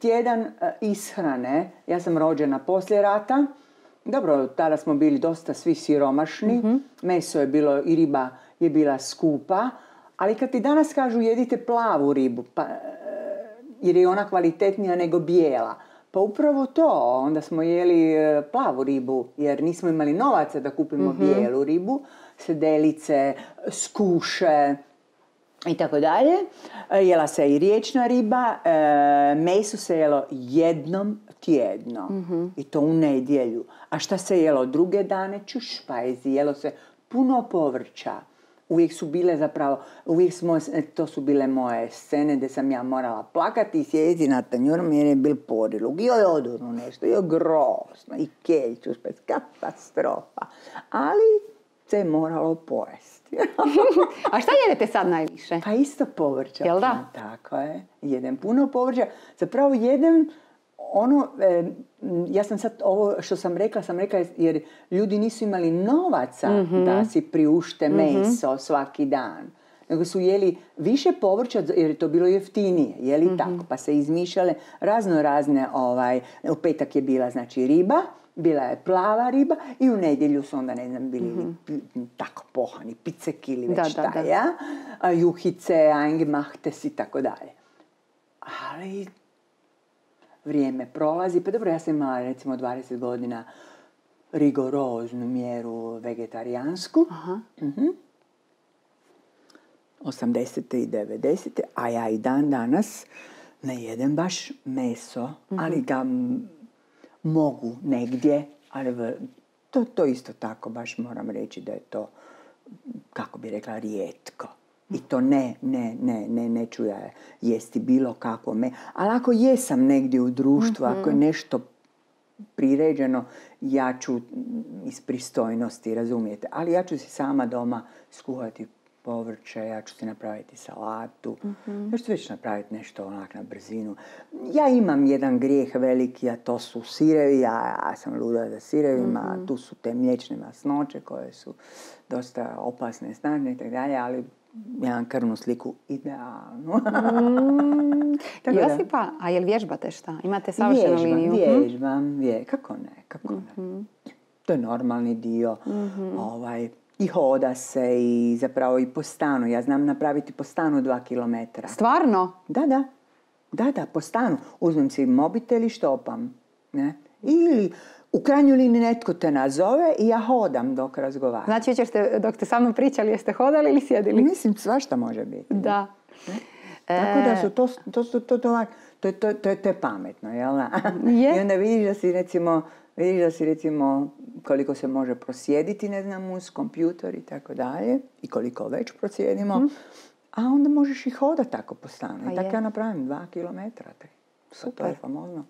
tjedan ishrane, ja sam rođena poslije rata, dobro, tada smo bili dosta svi siromašni, meso je bilo i riba je bila skupa, ali kad ti danas kažu jedite plavu ribu, pa, jer je ona kvalitetnija nego bijela, pa upravo to, onda smo jeli plavu ribu, jer nismo imali novaca da kupimo bijelu ribu, sedelice, skuše i tako dalje. Jela se i riječna riba, meso se jelo jednom tjedno i to u nedjelju. A šta se jelo druge dane? Čušpajzi, jelo se puno povrća. Uvijek su bile zapravo, to su bile moje scene gdje sam ja morala plakati i sjediti na tanjurom jer je bil porilug. Joj odurno nešto, joj grozno, i keljču, katastrofa. Ali se je moralo pojesti. A šta jedete sad najviše? Pa isto povrća. Jel da? Tako je. Jedem puno povrća. Zapravo jedem ja sam sad ovo što sam rekla jer ljudi nisu imali novaca da si priušte meso svaki dan. Nego su jeli više povrća jer je to bilo jeftinije. Jeli tako? Pa se izmišljale razne, u petak je bila znači riba, bila je plava riba i u nedjelju su onda, ne znam, bili tako pohani, picek ili već šta, ja? Juhice, eingemachtes i tako dalje. Ali vrijeme prolazi, pa dobro, ja sam imala recimo 20 godina rigoroznu mjeru vegetarijansku. 80. i 90. A ja i dan danas ne jedem baš meso, ali ga mogu negdje, ali to isto tako baš moram reći da je to, kako bi rekla, rijetko. I to neću ja jesti bilo kako ali ako jesam negdje u društvu, ako je nešto priređeno, ja ću iz pristojnosti, razumijete, ali ja ću si sama doma skuhati povrće, ja ću si napraviti salatu, ja ću već napraviti nešto onak na brzinu. Ja imam jedan grijeh veliki, a to su sirevi, ja sam luda za sirevima, tu su te mliječne masnoće koje su dosta opasne, snažne i tako dalje, ali jedan krvnu sliku idealno. Josipa, a jel vježbate šta? Imate savršenu liniju? Vježbam. Kako ne. To je normalni dio. I hoda se i zapravo i po stanu. Ja znam napraviti po stanu 2 kilometra. Stvarno? Da, po stanu. Uzmem si mobitel i štopam. Ne? Ili u krajnjoj liniji netko te nazove i ja hodam dok razgovaram. Znači, dok ste sa mnom pričali, jeste hodali ili sjedili? Mislim, svašta može biti. Da. Tako da su to je pametno, jel da? I onda vidiš da si recimo koliko se može prosjediti, ne znam, uz kompjutor i tako dalje, i koliko već prosjedimo, a onda možeš i hodati tako po stanu. I tako ja napravim 2 kilometra. To je famozno.